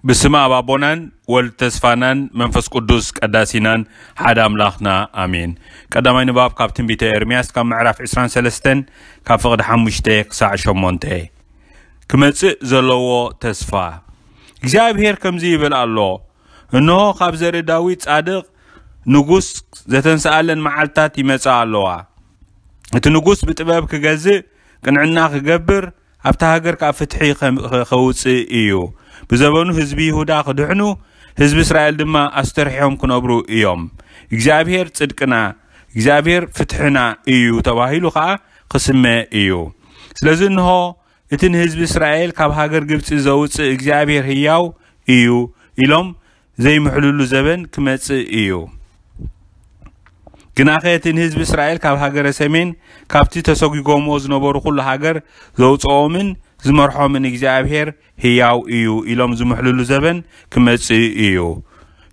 ብስመ ኣብ ኣቦናን ወልድ ተስፋናን መንፈስ ቅዱስ ቀዳሲናን ሓደ ኣምላኽና ኣሜን። ቀዳማይ ንባብ ካብ ትንቢተ ኤርምያስ ካብ ምዕራፍ ዕስራን ሰለስተን ካብ ፍቕዲ ሓሙሽተ ክሳዕ ሸሞንተ። ክመጽእ ዘለዎ ተስፋ። እግዚኣብሔር ከምዚ ይብል ኣሎ፣ እንሆ ካብ ዘርኢ ዳዊት ጻድቕ ንጉስ ዘተንስኣለን መዓልታት ይመጻ ኣለዋ። እቲ ንጉስ ብጥበብ ክገዝእ፣ ቅንዕና ክገብር፣ ኣብታ ሃገር ከኣ ፍትሒ ከም-፣ ከ-፣ ከውጽእ እዩ። ብዘበኑ ህዝቢ ይሁዳ ክድሕኑ፣ ህዝቢ እስራኤል ድማ ኣስተርሒሖም ክነብሩ እዮም። እግዚኣብሔር ጽድቅና፣ እግዚኣብሔር ፍትሕና እዩ ተባሂሉ ከኣ ክስመ እዩ። ስለዚ እንሆ እቲ ንህዝቢ እስራኤል ካብ ሃገር ግብጺ ዘውጽእ እግዚኣብሔር ህያው እዩ ኢሎም ዘይምሕልሉ ዘበን ክመጽእ እዩ። ግናኸ እቲ ንህዝቢ እስራኤል ካብ ሃገረ ሰሜን ካብቲ ተሰጒጎምዎ ዝነበሩ ኩሉ ሃገር ዘውጽኦምን ዝመርሖምን እግዚኣብሔር ህያው እዩ ኢሎም ዝምሕልሉ ዘበን ክመጽእ እዩ።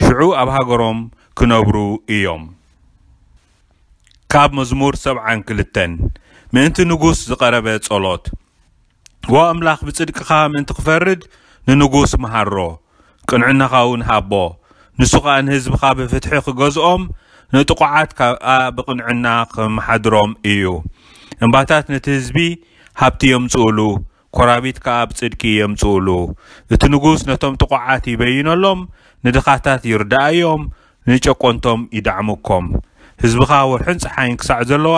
ሽዑ ኣብ ሃገሮም ክነብሩ እዮም። ካብ መዝሙር ሰብዓን ክልተን። ምእንቲ ንጉስ ዝቐረበ ጸሎት። ዎ ኣምላኽ፣ ብጽድቅኻ ምእንቲ ክፈርድ ንንጉስ መሃሮ፣ ቅንዕናኻ እውን ሃቦ። ንሱ ኸኣ ንህዝብኻ ብፍትሒ ክገዝኦም፣ ንጥቑዓት ከኣ ብቕንዕና ክመሓድሮም እዩ። እምባታት ነቲ ህዝቢ ሃብቲ የምጽኡሉ፣ ኮራቢት ከኣ ብጽድቂ የምጽኡሉ። እቲ ንጉስ ነቶም ጥቑዓት ይበይነሎም፣ ንድኻታት ይርዳእዮም፣ ንጨቆንቶም ይዳዕምኮም። ህዝብኻ ወርሕን ጸሓይን ክሳዕ ዘለዋ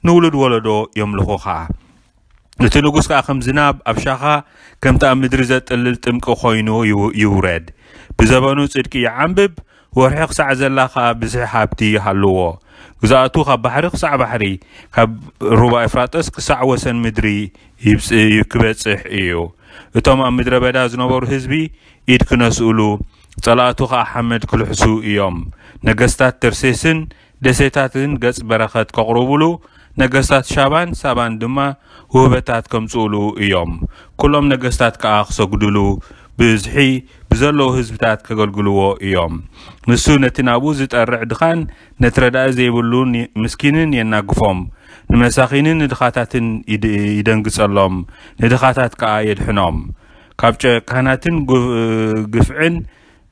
ንውሉድ ወለዶ የምልኹኻ። እቲ ንጉስ ከኣ ከም ዝናብ ኣብ ሻኻ፣ ከምቲ ኣብ ምድሪ ዘጥልል ጥምቂ ኮይኑ ይው-፣ ይውረድ። ብዘበኑ ጽድቂ ይዓንብብ፣ ወርሒ ክሳዕ ዘላ ከኣ ብዝሒ ሃብቲ ይሃልዎ። ግዛኣቱ ካብ ባሕሪ ክሳዕ ባሕሪ፣ ካብ ሩባ ኤፍራጠስ ክሳዕ ወሰን ምድሪ ይብጽ-፣ ክበጽሕ እዩ። እቶም ኣብ ምድረ በዳ ዝነበሩ ህዝቢ ኢድ ክነስእሉ፣ ጸላእቱ ኸኣ ሓመድ ክልሕሱ እዮም። ነገስታት ተርሴስን ደሴታትን ገጽ በረኸት ከቕርቡሉ፣ ነገስታት ሻባን ሳባን ድማ ውህበታት ከምጽኡሉ እዮም። ኩሎም ነገስታት ከኣ ክሰግዱሉ፣ ብዝሒ ብዘለዉ ህዝብታት ከገልግልዎ እዮም። ንሱ ነቲ ናብኡ ዝጠርዕ ድኻን፣ ነቲ ረዳኢ ዘይብሉን ምስኪንን የናግፎም። ንመሳኺንን ንድኻታትን ይድ-፣ ይደንግጸሎም፣ ንድኻታት ከኣ የድሕኖም። ካብ ጨካናትን ግ-፣ ግፍዕን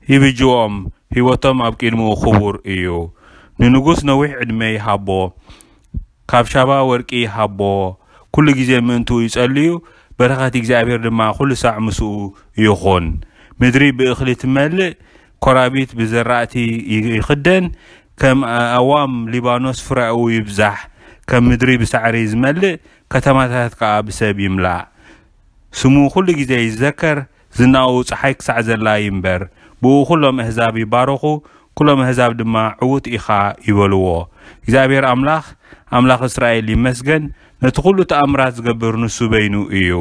ይብጅዎም፣ ህይወቶም ኣብ ቅድሚኡ ክቡር እዩ። ንንጉስ ነዊሕ ዕድመ ይሃቦ፣ ካብ ሻባ ወርቂ ይሃቦ። ኩሉ ግዜ ምእንትኡ ይጸልዩ፣ በረኸት እግዚኣብሔር ድማ ኩሉ ሳዕ ምስኡ ይኹን። ምድሪ ብእኽሊ ትመልእ፣ ኮራቢት ብዘራእቲ ይ-፣ ይኽደን፣ ከም ኣእዋም ሊባኖስ ፍረኡ ይብዛሕ፣ ከም ምድሪ ብሳዕሪ ዝመልእ፣ ከተማታት ከኣ ብሰብ ይምላእ። ስሙ ኩሉ ግዜ ይዘከር፣ ዝናኡ ጸሓይ ክሳዕ ዘላ ይንበር። ብኡ ኩሎም ኣህዛብ ይባረኹ፣ ኩሎም ኣህዛብ ድማ ዕዉት ኢኻ ይበልዎ። እግዚኣብሔር ኣምላኽ፣ ኣምላኽ እስራኤል ይመስገን፣ ነቲ ኩሉ ተኣምራት ዝገብር ንሱ በይኑ እዩ።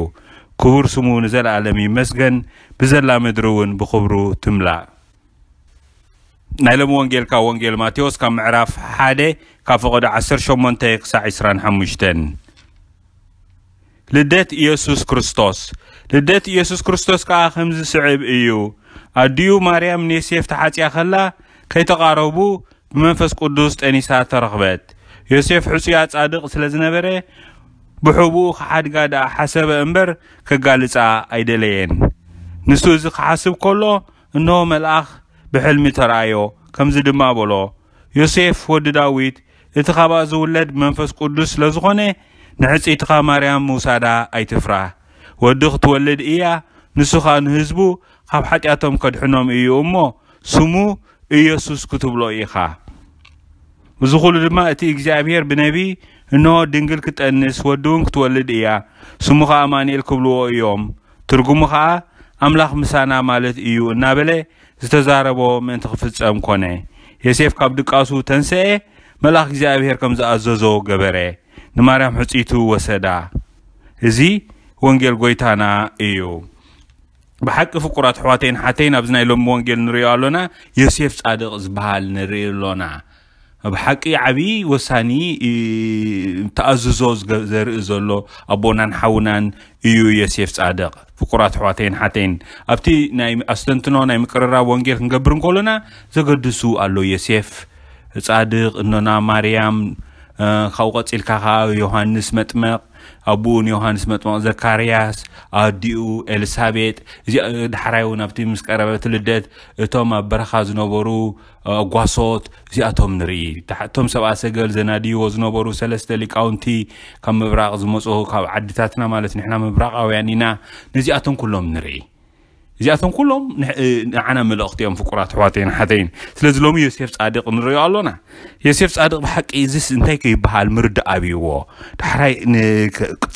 ክቡር ስሙ ንዘለኣለም ይመስገን፣ ብዘላ ምድሪ እውን ብኽብሩ ትምላእ። ናይ ሎሚ ወንጌል ካብ ወንጌል ማቴዎስ ካብ ምዕራፍ ሓደ ካብ ፍቕዲ ዓሰርተ ሸሞንተ ክሳዕ ዕስራን ሓሙሽተን። ልደት ኢየሱስ ክርስቶስ። ልደት ኢየሱስ ክርስቶስ ከኣ ከምዚ ስዕብ እዩ። ኣዲኡ ማርያም ንዮሴፍ ተሓጽያ ከላ፣ ከይተቓረቡ ብመንፈስ ቅዱስ ጠኒሳ ተረኽበት። ዮሴፍ ሕጹያ ጻድቕ ስለ ዝነበረ፣ ብሕቡኡ ክሓድጋ ደኣ ሓሰበ እምበር፣ ከጋልጻ ኣይደለየን። ንሱ እዚ ክሓስብ ከሎ፣ እንሆ መልኣኽ ብሕልሚ ተራእዮ፣ ከምዚ ድማ በሎ፣ ዮሴፍ ወዲ ዳዊት፣ እቲ ካብኣ ዝውለድ ብመንፈስ ቅዱስ ስለ ዝኾነ፣ ንሕጽይትኻ ማርያም ምውሳዳ ኣይትፍራህ። ወዲ ክትወልድ እያ፣ ንሱ ኸኣ ንህዝቡ ካብ ሓጢኣቶም ከድሕኖም እዩ እሞ፣ ስሙ ኢየሱስ ክትብሎ ኢኻ። እዚ ኹሉ ድማ እቲ እግዚኣብሔር ብነቢይ፣ "እንሆ ድንግል ክትጠንስ፣ ወዲ እውን ክትወልድ እያ፣ ስሙ ኸኣ ኣማኑኤል ክብልዎ እዮም። ትርጉሙ ኸኣ ኣምላኽ ምሳና ማለት እዩ" እናበለ ዝተዛረቦ ምእንቲ ክፍጸም ኮነ። ዮሴፍ ካብ ድቃሱ ተንስኤ፣ መልኣኽ እግዚኣብሔር ከም ዝኣዘዞ ገበረ። ንማርያም ሕጽይቱ ወሰዳ። እዚ ወንጌል ጐይታና እዩ። ብሓቂ ፍቁራት ኣሕዋተይን ሓተይን፣ ኣብዚ ናይ ሎሚ ወንጌል ንርእዮ ኣሎና፣ ዮሴፍ ጻድቕ ዝበሃል ንርኢ ኣሎና። ብሓቂ ዓብዪ ወሳኒ፣ እ፣ ተኣዝዞ ዝገ-፣ ዘርኢ ዘሎ ኣቦናን ሓውናን እዩ ዮሴፍ ጻድቕ። ፍቁራት ኣሕዋተይን ሓተይን፣ ኣብቲ ናይ ኣስተንትኖ ናይ ምቅርራብ ወንጌል ክንገብር እንከሎና ዘገድሱ ኣሎ። ዮሴፍ ጻድቕ፣ እኖና ማርያም፣ እ፣ ካብኡ ቀጺልካ ከኣ ዮሃንስ መጥመቕ፣ ኣቦኡ ንዮሃንስ መጥምቕ ዘካርያስ፣ ኣዲኡ ኤልሳቤጥ፣ እዚ ዳሕራይ እውን ኣብቲ ምስ ቀረበት ልደት እቶም ኣብ በረኻ ዝነበሩ ኣጓሶት እዚኣቶም ንርኢ። እቶም ሰብኣ ሰገል ዘናድይዎ ዝነበሩ ሰለስተ ሊቃውንቲ ካብ ምብራቕ ዝመፁ ካብ ዓድታትና ማለት ንሕና ምብራቓውያን ኢና። ነዚኣቶም ኩሎም ንርኢ። እዚኣቶም ኩሎም ንዓና መልእኽቲ እዮም ፍቁራት ኣሕዋተይን ሓተይን። ስለዚ ሎሚ ዮሴፍ ፃድቕ ንሪኦ ኣሎና። ዮሴፍ ፃድቕ ብሓቂ እዚስ እንታይ ከይበሃል ምርዳእ ኣብይዎ። ዳሕራይ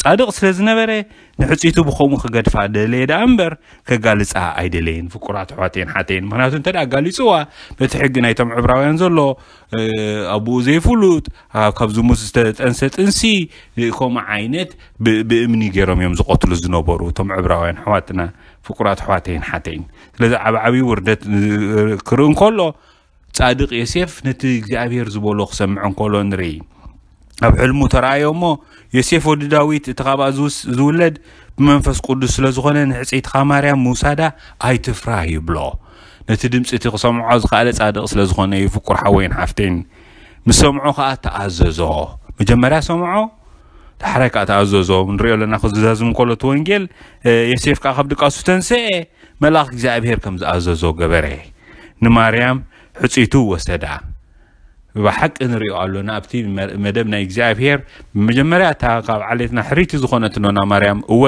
ፃድቕ ስለ ዝነበረ ንሕፅይቱ ብኸምኡ ክገድፋ ደለየ ደኣ እምበር ከጋልፃ ኣይደለየን ፍቁራት ኣሕዋተይን ሓተይን። ምክንያቱ እንተ ኣጋሊፅዋ በቲ ሕጊ ናይቶም ዕብራውያን ዘሎ ኣቦኡ ዘይፍሉጥ ካብ ዝሙት ዝተጠንሰ ጥንሲ ከምኡ ዓይነት ብእምኒ ገይሮም እዮም ዝቐትሉ ዝነበሩ እቶም ዕብራውያን ኣሕዋትና ፍቁራት ኣሕዋተይን ሓተይን። ስለዚ ዓብ ዓብዪ ውርደት ክርኢ እንከሎ ፃድቕ ዮሴፍ ነቲ እግዚኣብሔር ዝበሎ ክሰምዕ እንከሎ ንርኢ። ኣብ ሕልሙ ተረኣዮ እሞ ዮሴፍ ወዲ ዳዊት እቲ ካብኣ ዝውለድ ብመንፈስ ቅዱስ ስለ ዝኾነ ንሕፅይትኻ ማርያም ምውሳዳ ኣይትፍራ ይብሎ። ነቲ ድምፂ እቲ ክሰምዖ ዝኸኣለ ፃድቕ ስለ ዝኾነ እዩ ፍቁር ሓወይን ሓፍተይን። ምስ ሰምዖ ከዓ ተኣዘዞ። መጀመርያ ሰምዖ ዳሕራይ ከዓ ተኣዘዞ። ንሪኦ ኣለና ክዝዛዝም ከሎ እቲ ወንጌል ዮሴፍ ከዓ ካብ ድቃሱ ተንስኤ መልኣኽ እግዚኣብሔር ከም ዝኣዘዞ ገበረ። ንማርያም ሕፅይቱ ወሰዳ። ብሓቂ ንሪኦ ኣሎና ኣብቲ መደብ ናይ እግዚኣብሔር ብመጀመርያ እታ ካብ ዓሌትና ሕርይቲ ዝኾነት ኖና ማርያም እወ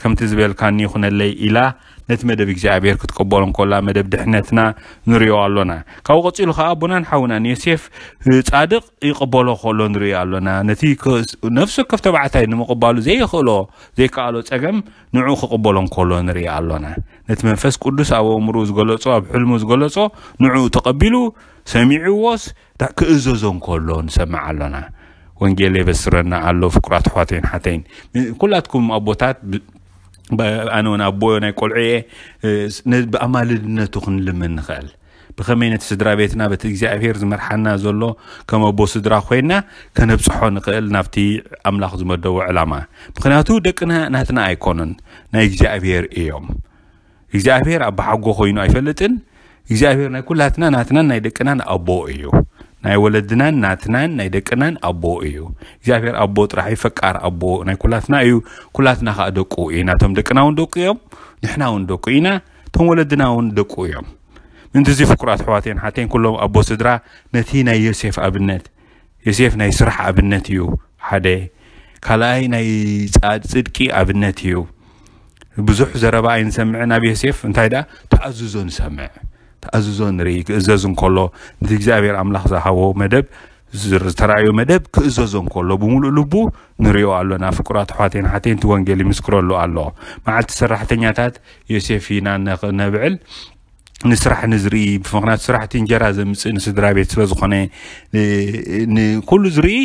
ከምቲ ዝበልካኒ ይኹነለይ ኢላ ነቲ መደብ እግዚኣብሔር ክትቀበሎ እንኮላ መደብ ድሕነትና ንሪኦ ኣሎና። ካብኡ ቀፂሉ ከዓ ኣቦናን ሓውናን ዮሴፍ ፃድቕ ይቕበሎ ከሎ ንሪኦ ኣሎና። ነቲ ነፍሲ ወከፍ ተባዕታይ ንምቕባሉ ዘይኽእሎ ዘይከኣሎ ፀገም ንዑ ክቕበሎ እንኮሎ ንሪኦ ኣሎና። ነቲ መንፈስ ቅዱስ ኣብ ኣእምርኡ ዝገለጾ ኣብ ሕልሙ ዝገለጾ ንዑ ተቐቢሉ ሰሚዕዎስ ክእዘዞ እንከሎ ንሰምዕ ኣሎና። ወንጌል የበስረና ኣሎ ፍቁራት ኣሕዋተይን ሓተይን። ኩላትኩም ኣቦታት ኣነ እውን ኣቦ ናይ ቆልዑ እየ። ብኣማልድነቱ ክንልምን ንኽእል። ብኸመይ ነቲ ስድራ ቤትና በቲ እግዚኣብሔር ዝመርሓና ዘሎ ከም ኣቦ ስድራ ኮይና ከነብፅሖ ንኽእል ናብቲ ኣምላኽ ዝመደቦ ዕላማ። ምክንያቱ ደቅና ናትና ኣይኮኑን፣ ናይ እግዚኣብሔር እዮም። እግዚኣብሔር ኣባሓጎ ኮይኑ ኣይፈልጥን። እግዚኣብሔር ናይ ኩላትና ናትናን ናይ ደቅናን ኣቦ እዩ። ናይ ወለድናን ናትናን ናይ ደቅናን ኣቦ እዩ። እግዚኣብሔር ኣቦ ጥራሕ እዩ፣ ፈቃር ኣቦ ናይ ኩላትና እዩ። ኩላትና ከዓ ደቁ ኢና። እቶም ደቅና እውን ደቁ እዮም፣ ንሕና እውን ደቁ ኢና፣ እቶም ወለድና እውን ደቁ እዮም። ምእንቲ እዚ ፍቁራት ኣሕዋተይን ሓተይን ኩሎም ኣቦ ስድራ ነቲ ናይ ዮሴፍ ኣብነት፣ ዮሴፍ ናይ ስራሕ ኣብነት እዩ ሓደ። ካልኣይ ናይ ፃ- ፅድቂ ኣብነት እዩ። ብዙሕ ዘረባ ኣይንሰምዕን ኣብ ዮሴፍ። እንታይ ደኣ ተኣዝዞ ንሰምዕ፣ ተኣዝዞ ንርኢ። ክእዘዝ እንከሎ ነቲ እግዚኣብሔር ኣምላኽ ዝሃቦ መደብ ዝተራእዮ መደብ ክእዘዞ እንከሎ ብምሉእ ልቡ ንሪኦ ኣሎና። ፍቁራት ኣሕዋተይን ሓተይን እቲ ወንጌል ይምስክረሉ ኣሎ። መዓልቲ ሰራሕተኛታት ዮሴፍ ኢና ነብዕል ንስራሕ ንዝርኢ ብምክንያቱ ስራሕቲ እንጀራ ዘምፅእ ንስድራ ቤት ስለ ዝኾነ ንኩሉ ዝርኢ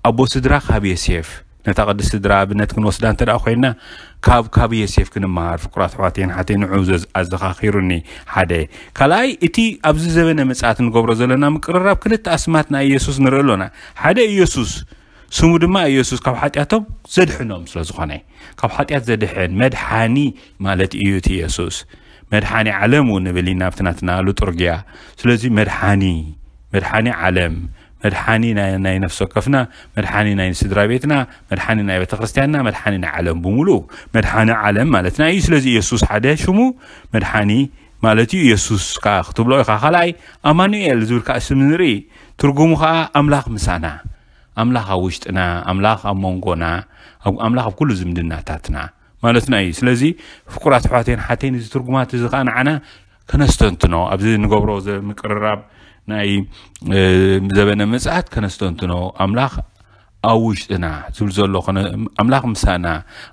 ኣቦ ስድራ ካብ የሴፍ ነታ ቅድስቲ ስድራ ኣብነት ክንወስዳ እንተ ኮይና ካብ ካብ የሴፍ ክንመሃር ፍቁራት ኣሕዋተይን ሓተይ ንዑ ኣዘኻኺሩኒ። ሓደ ካልኣይ እቲ ኣብዚ ዘበነ ምጽኣት ንገብሮ ዘለና ምቅርራብ ክልተ ኣስማት ናይ ኢየሱስ ንርኢ ኣሎና። ሓደ ኢየሱስ ስሙ ድማ ኢየሱስ ካብ ሓጢኣቶም ዘድሕኖም ስለ ዝኾነ ካብ ሓጢኣት ዘድሕን መድሓኒ ማለት እዩ እቲ ኢየሱስ። መድሓኒ ዓለም እውን ንብል ኢና ኣብቲ ናትና ሉጥርግያ። ስለዚ መድሓኒ መድሓኒ ዓለም መድሓኒ ናይ ነፍሲ ወከፍና መድሓኒ ናይ ስድራ ቤትና መድሓኒ ናይ ቤተ ክርስቲያንና መድሓኒ ናይ ዓለም ብምሉኡ መድሓኒ ዓለም ማለትና እዩ። ስለዚ ኢየሱስ ሓደ ሽሙ መድሓኒ ማለት እዩ። ኢየሱስ ከዓ ክትብሎ ኢኻ። ካልኣይ ኣማኑኤል ዝብል ከዓ ስም ንርኢ። ትርጉሙ ከዓ ኣምላኽ ምሳና፣ ኣምላኽ ኣብ ውሽጥና፣ ኣምላኽ ኣብ መንጎና፣ ኣምላኽ ኣብ ኩሉ ዝምድናታትና ማለትና እዩ። ስለዚ ፍቁራት ኣሕዋተይን ሓተይን እዚ ትርጉማት እዚ ከዓ ንዓና ከነስተንትኖ ኣብዚ ንገብሮ ምቅርራብ ናይ ዘበነ ምጽኣት ከነስተንትኖ ኣምላኽ ኣብ ውሽጥና ዝብል ዘሎ ኣምላኽ ምሳና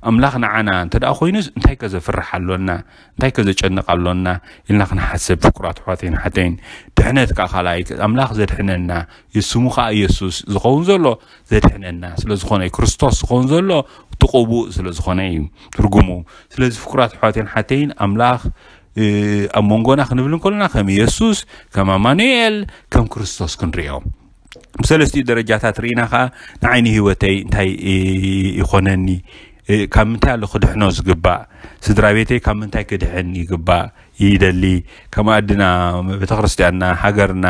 ኣምላኽ ንዓና እንተ ደኣ ኮይኑስ እንታይ ከዘፍርሕ ኣሎና እንታይ ከዘጨንቕ ኣሎና ኢልና ክንሓስብ ፍቁራት ኣሕዋተይን ሓተይን። ድሕነት ከዓ ካልኣይ ኣምላኽ ዘድሕነና ስሙ ከዓ ኢየሱስ ዝኸውን ዘሎ ዘድሕነና ስለ ዝኾነ ክርስቶስ ዝኸውን ዘሎ እቲ ቅቡእ ስለ ዝኾነ እዩ ትርጉሙ። ስለዚ ፍቁራት ኣሕዋተይን ሓተይን ኣምላኽ ኣብ መንጎና ክንብል እንከለና ከም ኢየሱስ ከም ኣማኑኤል ከም ክርስቶስ ክንሪኦ ብሰለስቲኡ ደረጃታት ርኢና ከዓ ንዓይኒ ህይወተይ እንታይ ይኾነኒ ካብ ምንታይ ኣሎ ክድሕኖ ዝግባእ ስድራ ቤተይ ካብ ምንታይ ክድሕን ይግባእ ይደሊ ከም ኣድና ቤተክርስትያንና ሃገርና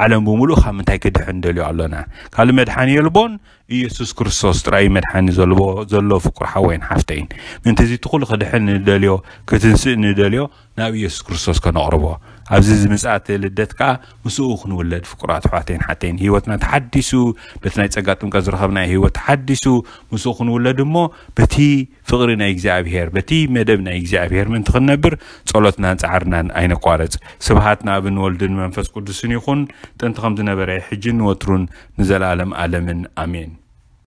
ዓለም ብምሉእ ካብ ምንታይ ክድሕን ደልዮ ኣሎና ካልእ መድሓኒ የልቦን ኢየሱስ ክርስቶስ ጥራይ መድሓኒ ዘለዎ ዘሎ ፍቁር ሓወይን ሓፍተይን። ምእንቲ እዚ እቲ ኩሉ ክድሕን ንደልዮ፣ ክትንስእ ንደልዮ፣ ናብ ኢየሱስ ክርስቶስ ከነቕርቦ፣ ኣብዚ ዝምጽኣት ልደት ከኣ ምስኡ ክንውለድ ፍቁራት ኣሕዋተይን ሓተይን፣ ህይወትና ተሓዲሱ፣ በቲ ናይ ጸጋ ጥምቀት ዝረኸብናዮ ህይወት ተሓዲሱ ምስኡ ክንውለድ እሞ፣ በቲ ፍቕሪ ናይ እግዚኣብሔር፣ በቲ መደብ ናይ እግዚኣብሔር ምእንቲ ክንነብር ጸሎትናን ጻዕርናን ኣይነቋርጽ። ስብሃት ንኣብን ወልድን መንፈስ ቅዱስን ይኹን፣ ጥንቲ ከም ዝነበረ፣ ሕጂ ንወትሩን ንዘለኣለም ኣለምን ኣሜን።